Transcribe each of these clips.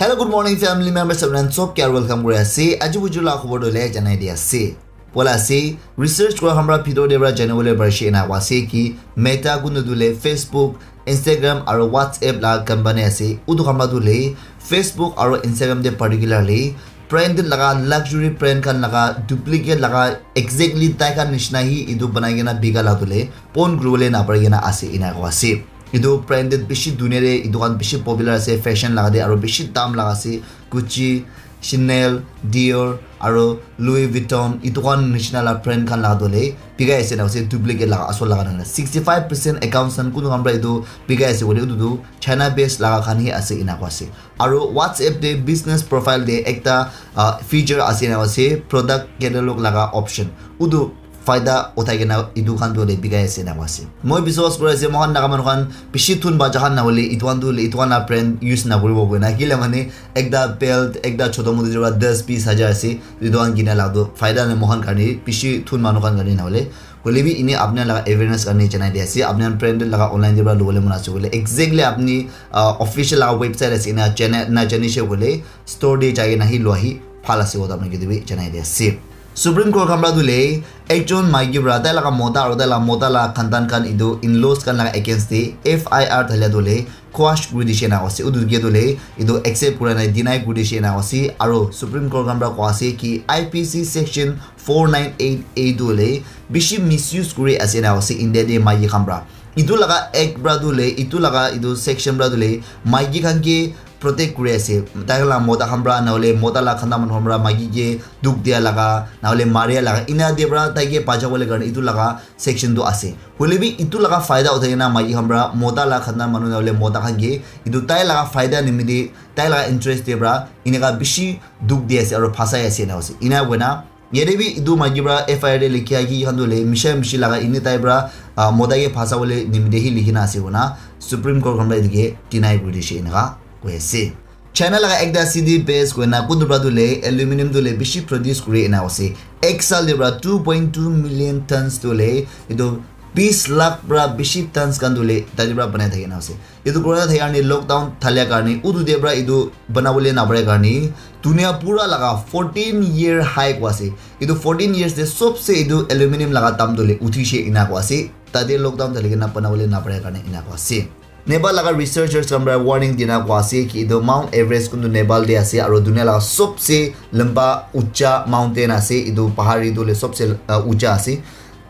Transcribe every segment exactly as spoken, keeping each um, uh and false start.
Hello, good morning, family members. Everyone, sob ke welcome kuri ase. Aji buju la khobor dole janai di ase. Poila ase, research kura khan pra bhitor te pra janibole parishe ena koa ase ki Meta kuntu tu le Facebook, Instagram aro WhatsApp la company ase. Utu khan pra tu le Facebook aro Instagram te particularly branded laga luxury brand khan laga duplicate laga exactly tai khan nishina hi etu banai kena bika la tu le pon kuribole napari kena ase ena koa ase. Etu branded bishi dunia te etu khan bishi popular ase fashion laga te aro bishi dam laga ase. Gucci, Chanel, Dior, aro Louis Vuitton, etu khan nishina la brand khan laga tu le bikai ase na ase duplicate laga asol laga nana. Sixty five percent accounts khan kunu khan pra etu bikai ase koile etu tu China based laga khan hi ase ena koa ase. Aro WhatsApp te business profile te ekta uh, feature ase na ase product catalog laga option. Utu faida uthai kena etu khan tu le bikai ase na ase. Moi biswas kuri ase mohan naga manu khan bishi thun baja khan na hole etu khan tu le etu khan la brand use na kuribo koi na kile mane ekta belt ekta choto moto jora das piece hajar ase etu khan kina la tu faida na mohan karne bishi thun manu khan karne na hole kole bi ini apna laga awareness karne janai di ase apna branded laga online jora lobole mon ase kole exactly apni uh, official laga website ase na jane na jani she kole store te jai na hi lo hi phal ase kotha apna ke bi janai di ase. Supreme Court khan pra tu le ekjon maiki pra tai laga mota aro tai laga mota laga khandan khan etu in-laws khan laga against te F I R thalia tu le quash kuri dishe na ase utu ke tu le etu accept kura na deny kuri dishe na ase aro Supreme Court khan pra koa ase ki I P C section four nine eight A tu le bishi misuse kuri ase na ase India te maiki khan pra etu laga act pra tu le etu laga etu section pra tu le maiki khan ke protect kuri ase tai khan la mota khan pra na hole mota la khanda manu khan pra maiki ke duk dia laga na hole maria laga ina de pra tai ke bacha bole karne etu laga section tu ase hole bi etu laga faida uthai na maiki khan pra mota la khanda manu na hole mota khan ke etu tai laga faida nimite tai laga interest de pra ineka bishi duk di ase aro phasai ase na ase ina wena yate bi etu maiki pra F I R te likhi agi khan tu le misha mishi laga ini tai pra uh, mota ke phasa bole nimite hi likhi na ase kona Supreme Court khan pra etu ke deny kuri dishe ineka koi ase. China laga ekta city base koi na kuntu pra tu le aluminium tu le bishi produce kuri ena ase. Ek sal de pra two point two million tons tu le etu bis lakh pra bishi tons khan tu le tadi pra banai thaki na ase. Etu corona thaki karne lockdown thalia karne utu de pra etu banabole napare karne dunia pura laga fourteen year high koi ase. Etu fourteen years de sobse etu aluminium laga dam tu le uthi she ena koi ase. Tade lockdown thali kena banabole napare karne ena koi ase. Nepal laga researchers khan para warning dina koi ase ki etu Mount Everest kuntu Nepal te ase aru dunia laga sobse lamba ucha mountain ase etu pahar etu le sobse uh, ucha ase.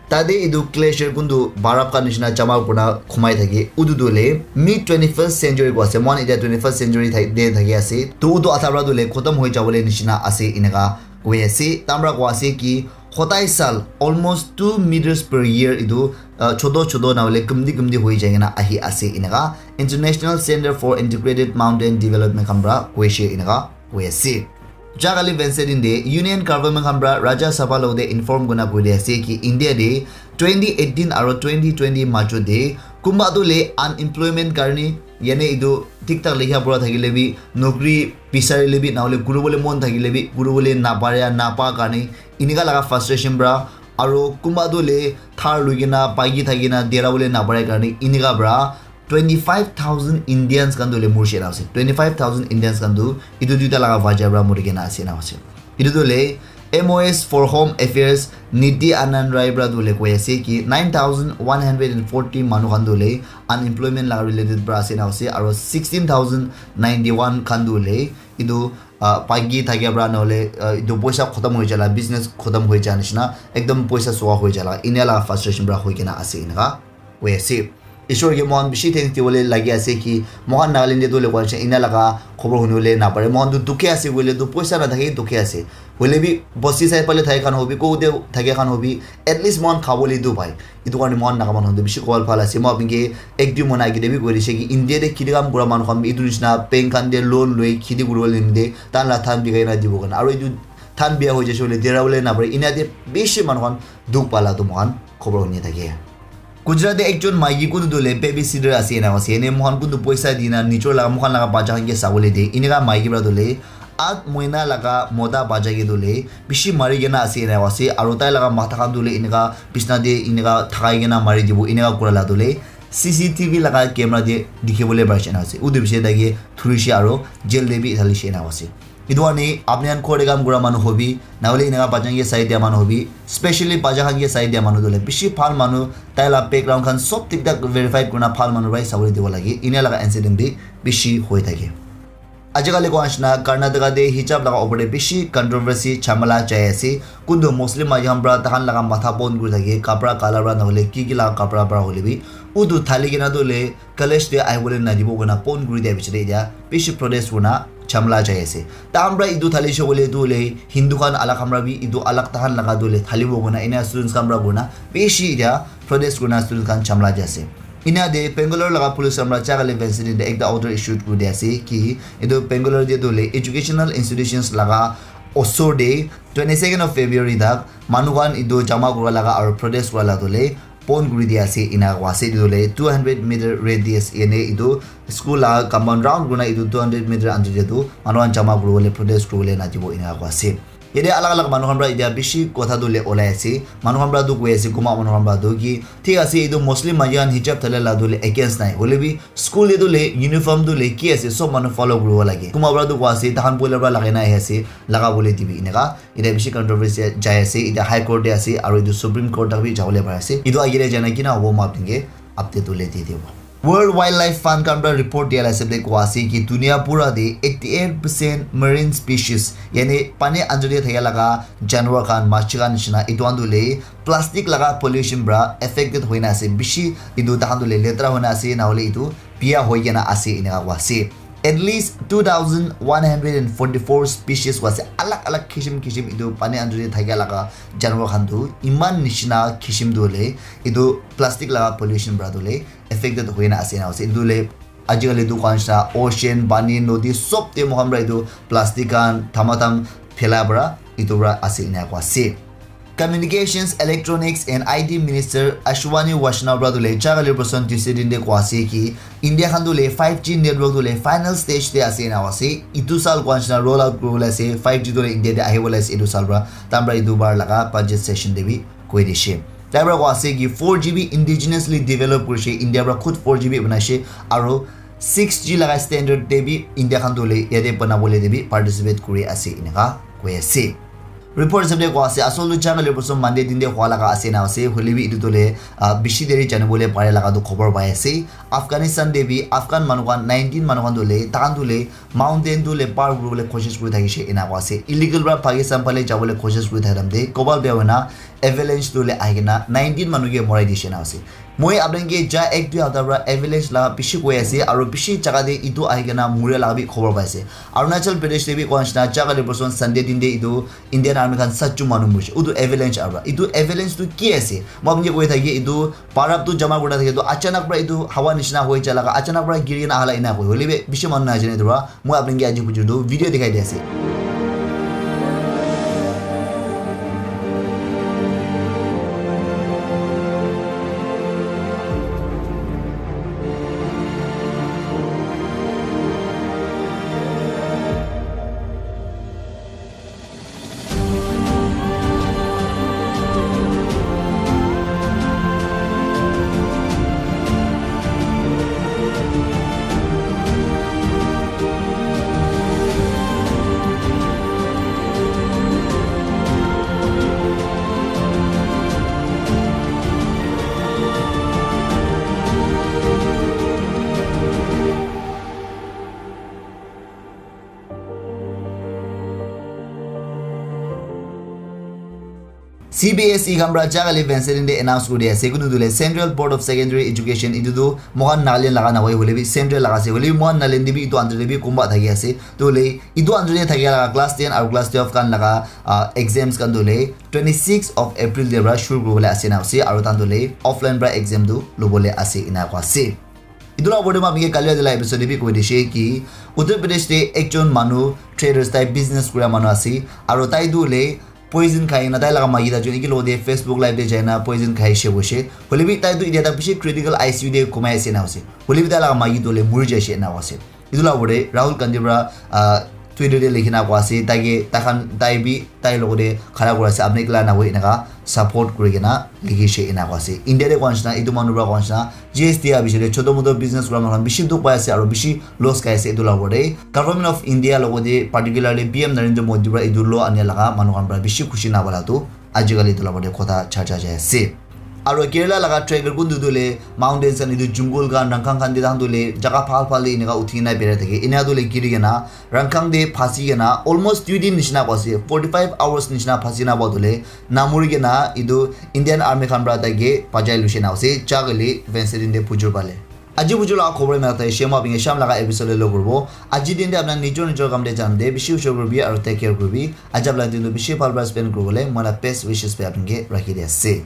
Tate etu glacier kuntu baraf khan nishina jama kurina khumai thake utu tu le mid twenty-first century koi ase moikhan etia twenty-first century thak- te thaki ase to utu atha para tu le khotom hoi jabole nishina ase eneka koi ase tamra koi ase ki hodai sal almost two meters per year etu uh, choto choto na hoile kumdi kumdi hoi jai kena ahi ase eneka International Center for Integrated Mountain Development khan para koise eneka koi ase. Jagali Wednesday din de Union Government khan para Rajya Sabha lo de inform kurina koi de ase ki India de twenty eighteen aro twenty twenty majo de kumba tu le unemployment karni yane etu thik thak likha pura thakile bi nokri bisarile bi na hole kuribole mon thakile bi kuribole napare napa karni eneka laga frustration para aro kumba tu le thar lui kena paiki thaki kena dera bole napare karni eneka para twenty five thousand Indians khan tu le murishina ase twenty five thousand Indians khan tu etu duita laga wajah para muri kena ase na ase etu tu le M O S for Home Affairs Niti Anand Rai para tu le koi ase ki nine thousand one hundred and forty manu khan tu le unemployment laga related para ase na ase aro sixteen thousand ninety one khan tu le etu uh, paiki thakia para na hole uh, etu poisa khotom hoi jala business khotom hoi ja nishina ekdom poisa soa hoi jala enia laga frustration para hoi kena ase eneka koi ase. Ishwar ke mohan bishi thanks dibole lagi ase ki mohan Nagaland te tu lekwa ase enia laga khobor hunibole napare mohan tu dukhi ase koile tu poisa nathake dukhi ase hoile bi bosti sai pale thai khan hobi ko de thake khan hobi at least mohan khabole tu pai etu karne mohan naga manu khan tu bishi kobal bhal ase moi apni ke ek dui mona agete bi koi dise ki India te khiti kam kura manu khan bi etu nishina bank khan te loan loi khiti kuribole nimite tai la than bikai na dibo karne aru etu than bia hoi jaise koile dera bole napare enia te bishi manu khan dukh pala tu mohan khobor huni thake. Gujarat te ekjon maiki kuntu tu le baby sitter ase ena ase ene mohan kuntu poisa dina nijor laga mohan laga bacha khan ke sabole de eneka maiki para tu le at moina laga mota bacha ke tu le bishi mari kena ase ena ase aru tai laga matha khan tu le eneka bisna te eneka thakai kena mari dibo eneka kura la tu le C C T V laga camera te dikhi bole pari ase ena ase. Utu bishi tai ke thurishe aro jail te bi thalishe ena ase. Etu karne apni khan ghor te kam kura manu hobi, nahole eneka bachan ke sai dia manu hobi, specially bacha khan ke sai dia manu tu hoile bishi bhal manu, tai la background khan sob thik thak verify kurina bhal manu para sabole dibo lage. Ena laga incident bi bishi hoi thake. Ajikali koa nishina Karnataka te hijab laga opor te bishi controversy jhamala jai ase. Kuntu Muslim maiki khan para taikhan laga matha pon kuri thake, kapra kala para nahole ki ki laga kapra para hoile bi. Utu thali kena tu hoile college te ahibole nadibo koina pon kuri dia bichare etia bishi protest kurina jhamala jai ase. Tahan para etu thalishe koile tu hoile Hindu khan alak khan para bi etu alak tahan laga tu hoile thalibo koina ena students khan para kurina bishi etia protest kurina students khan jhamala jai ase. Ena de Bangalore laga police khan para jagale vincent de ekta order issued kuri dia ase ki etu Bangalore de tu hoile educational institutions laga osor de twenty second of February tak manu khan etu jama kura laga aru protest kura laga tu hoile pon kuri dia ase ena koa ase. Etu tu hoile two hundred meter radius ene etu school laga compound round kurina etu two hundred meter under de tu manu khan jama kuri bole protest kuri bole nadibo ena koa ase. Yate alag alag manu khan para etia bishi kotha tu le olai ase. Manu khan para tu koi ase, kunba manu khan para tu ki, thik ase, etu Muslim maiki khan hijab thale la tu le against nai. Hoile bi school te tu le uniform tu le ki ase, sob manu follow kuribo lage. Kunba para tu koi ase, tahan boila para lagai na ahi ase, laga bole dibi eneka. Etia bishi controversy jai ase, etia High Court te ase, aru etu Supreme Court tak bi jabole pari ase. Etu agere jai na kina hobo ma apni ke update tu le di dibo. World Wildlife Fund khan para report dia la hisab de koa ase ki dunia pura de eighty eight percent marine species, yani pani under de thaka laga janwar khan, machi khan nishina, etu khan tu le plastic laga pollution para affected hoina ase, bishi etu tahan tu le letra hoina ase, na hole etu biya hoi kena ase, eneka koa ase. At least two thousand one hundred and forty four species koa ase, alag alag kishim kishim etu pani under de thaka laga janwar khan tu, iman nishina kishim tu le etu plastic laga pollution para tu le affected hoina ase na ase. Etu le ajikali tu koa nishina ocean, pani, nodi sob te moikhan para etu plastic khan thamatham phelai para etu para ase ena koa ase. Communications, Electronics and I T Minister Ashwani Vaishnaw para tu le jagale person Tuesday din de koa ase ki India khan tu le five G network tu le final stage te ase ena koa ase. Etu sal koa nishina roll out kuribole ase, five G tu le India te ahibole ase etu sal para. Tahan para etu bar laga budget session te bi koi dishe. Tai para koa ase ki four G bi indigenously develop kurishe, India para khud four G bi banaishe, aro six G laga standard te bi India khan tu le yate banabole te bi participate kuri ase eneka koi ase. Report hisab de koa ase, asol tu jagale person Monday din de hua laga ase na ase, hoile bi etu tu le, ah, bishi deri janibole pare laga tu khobor pai ase. Afghanistan te bi Afghan manu khan nineteen manu khan tu le, tahan tu le mountain tu le par kuribole koshish kuri thakishe ena koa ase. Illegal para Pakistan phale jabole koshish kuri thaka time te kobal bia hoina avalanche tu le ahi kena nineteen manu ke morai dishe na ase. Moi apni khan ke ja ek dui hapta para avalanche la bishi koi ase, aro bishi jaga te etu ahi kena muria la bi khobor pai ase. Arunachal Pradesh te bi koa nishina jagale person Sunday din de etu Indian Army khan satju manu morishe. Utu avalanche aro. Etu avalanche tu ki ase? Moi apni ke koi thaki etu barap tu jama kuri thaki tu achanak para etu hawa nishina hoi ja laga achanak para giri kena ahala ena koi. Hoile bi bishi manu nai jane etu para. Moi apni ke aji bujur tu video dikhai di ase. C B S E khan para jagale vincent de announce kuri ase, kunu tu le Central Board of Secondary Education, etu tu moikhan Nagaland laga nahoi, hoile bi central laga ase, hoile bi moikhan Nagaland de bi etu under de bi kunba thaki ase. Tu le etu under de thaki laga class ten aru class twelve khan laga, ah, exams khan tu le twenty six of April de para shuru kuribole ase na ase, aru tahan tu le offline para exam tu lobole ase ena koa ase. Etu la opor de moi apni ke kali la episode de bi koi dishe ki Uttar Pradesh de ekjon manu traders, tai business kura manu ase, aru tai tu hoile poison khai kena tai laga maiki ta jun ki logo de Facebook live de jai na poison khai she koishe. Hoile bi tai tu etia ta bishi critical I C U de kumai ase na ase. Hoile bi tai laga maiki tu hoile muri jaishe na ase. Etu la opor de Rahul Gandhi para, ah, Twitter te likhi na koa ase, tai ke, tai khan, tai bi, tai logot te khara kura ase, apni kila na hoi enaka support kuri kena likhi she enaka koa ase. India te koa nishina, etu manu para koa nishina, G S T a bishi te choto moto business kura manu khan bishi dukh pai ase, aro bishi loss khai ase etu la opor te. Government of India logot te, particularly P M Narendra Modi para etu law ania laga manu khan para bishi khushi na pala tu, ajikali etu la opor te kotha cha cha jai ase. Aro Kerala laga tracker kun tu le mountains and etu jungle khan, rangkhang khan te tahan tu le jaga phal phal te enaka uthi kena berai thake. Ena tu le giri kena rangkhang te phasi kena almost three din nishina pa ase, forty five hours nishina phasi na pa tu le namuri kena etu Indian Army khan para tai ke bachai lushi na ase, jagale Wednesday din te bujur pale. Aji bujur laga khobor na tai shema binge sham laga episode le lo kurbo. Aji din te apna nijor nijor kam te jan de, bishi ushor kurbi aro take care kurbi. Ajab la din tu bishi bhal bhal spend kurbo le, mala best wishes pe apni ke rakhi de ase.